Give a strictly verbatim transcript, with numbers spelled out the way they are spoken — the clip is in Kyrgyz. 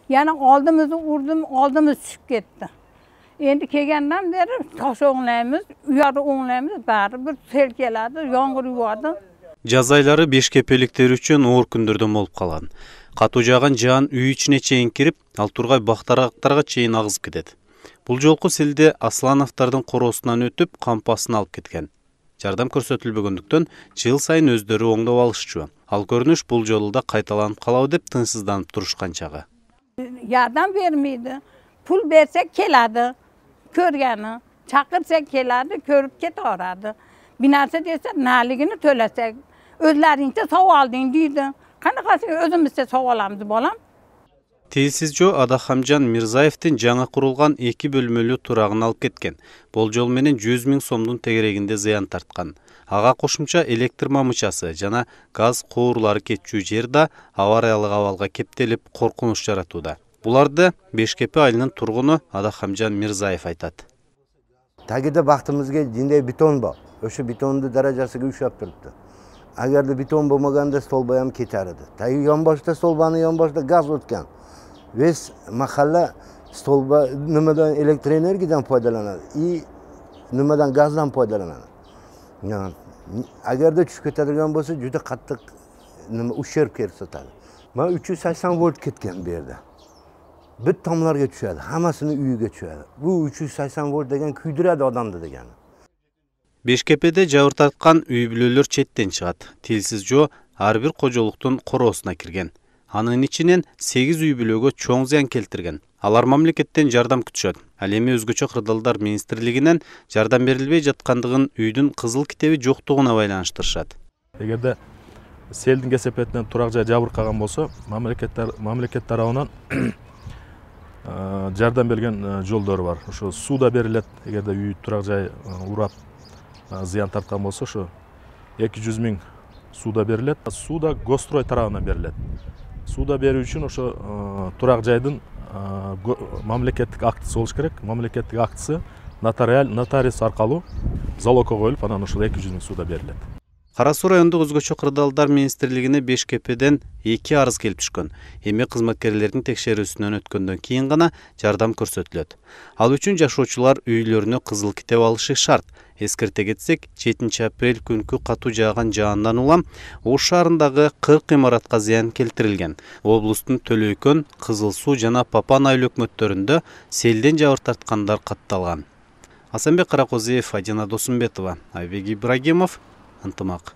Yani aldığımızı vurdum, aldığımız düşüp gitti. Endi kelgenden beri taş oğlayımız, uyarı oğlayımız bari bir sel geldi, yağmur yağdı. Jaz айлары Бешкепеликтер үчүн оор күндөрдөн болуп калган. Катуу жааган жаан үй ичине чейин кирип, ал тургай бактарактарга чейин агызып кетет. Бул жолку селде Аслановдордун короосунан өтүп, кампасын алып кеткен. Жардам көрсөтүлбөгөндүктөн жыл сайын өздөрү оңдоп алышчу. Ал көрүнүш бул жолу да кайталанып калабы деп тынчсызданып турушкан чагы. Yardım vermeydi. Pul versek keladi. Körgeni. Çakırsak keladi, körüp ketaveradi. Binası dese naligini төлesek. Özlerinçe sov aldın deydi. Qanaqasi özümüzde sov alamız bolam. Телсизжо Адахамжан Мирзаевдин жаңы курулган эки бөлмөлүү турагын алып кеткен. Болжол менен жүз миң сомдун тегерегинде зыян тарткан. Ага кошумча электр мамычасы жана газ куурлары кетчү жер да авариялык абалга кептелип коркунуч жаратууда. Буларды Бешкепе айылынын тургуну Адахамжан Мирзаев айтат. Тагиде бактымызга жинде бетон бар. Ошо бетондун даражасыга ушап турупты. Агерде бетон болмаганда столба ham кетер edi. Tayi yonboshda stolbani yonboshda gaz o'tgan. Biz mahalla stolba nimadan elektr energiyadan foydalanadi и nimadan gazdan foydalanadi. Yani agarda tushib ketadigan bo'lsa juda qattiq nima uşerb ko'rsatadi. Men uch yuz sakson volt ketgan bu yerda. Bir tomlarga tushadi, hammasini uyiga tushadi. Bu uch yuz sakson volt degan kuydiradi odamni degani. Бешкепеде жабыр тарткан үй бүлөлөр четтен чыгат. Телсизжо ар бир кожолуктун короосуна кирген. Анын ичинен сегиз үй бүлөгө чоң зыян келтирген. Алар мамлекеттен жардам күтүшөт. Ал эми өзгөчө кырдаалдар министрлигинен жардам берилбей жаткандыгын үйдүн кызыл китеби жоктугуна байланыштырышат. Эгерде селдин кесепетинен турак жай жабыркаган болсо, мамлекеттер мамлекет тарабынан жардам берген жолдору бар. Ошо сууда берилет. Эгерде үй турак жай урап зыян тарткан болсо, ошо эки жүз миң сууда берилет. Сууда Гострой тарабынан берилет. Сууда берүү үчүн ошо турак жайдын мамлекеттик актысы болуш керек. Мамлекеттик актысы нотариаль нотариус аркылуу залогко коюлуп, анан ошол эки жүз миң сууда берилет. Кара Суу райондук өзгөчө кырдаалдар министрлигине Бешкепеден эки арыз келип түшкөн. Эми кызматкерлердин текшерүүсүнөн өткөндөн кийин гана жардам көрсөтүлөт. Ал үчүн жашоочулар үйлөрүнө кызыл китеп алышы шарт. Эскерте кетсек, жетинчи апрель күнкү катуу жааган жаандан улам Ош шаарындагы кырк имаратка зыян келтирилген. Облустун Төлөйкөн, Кызыл Суу жана Папан айыл өкмөттөрүндө селден жабыр тарткандар катталган. Асанбек Каракозиев, Адина Досумбетова, Айбек Ибрагимов, ынтымак.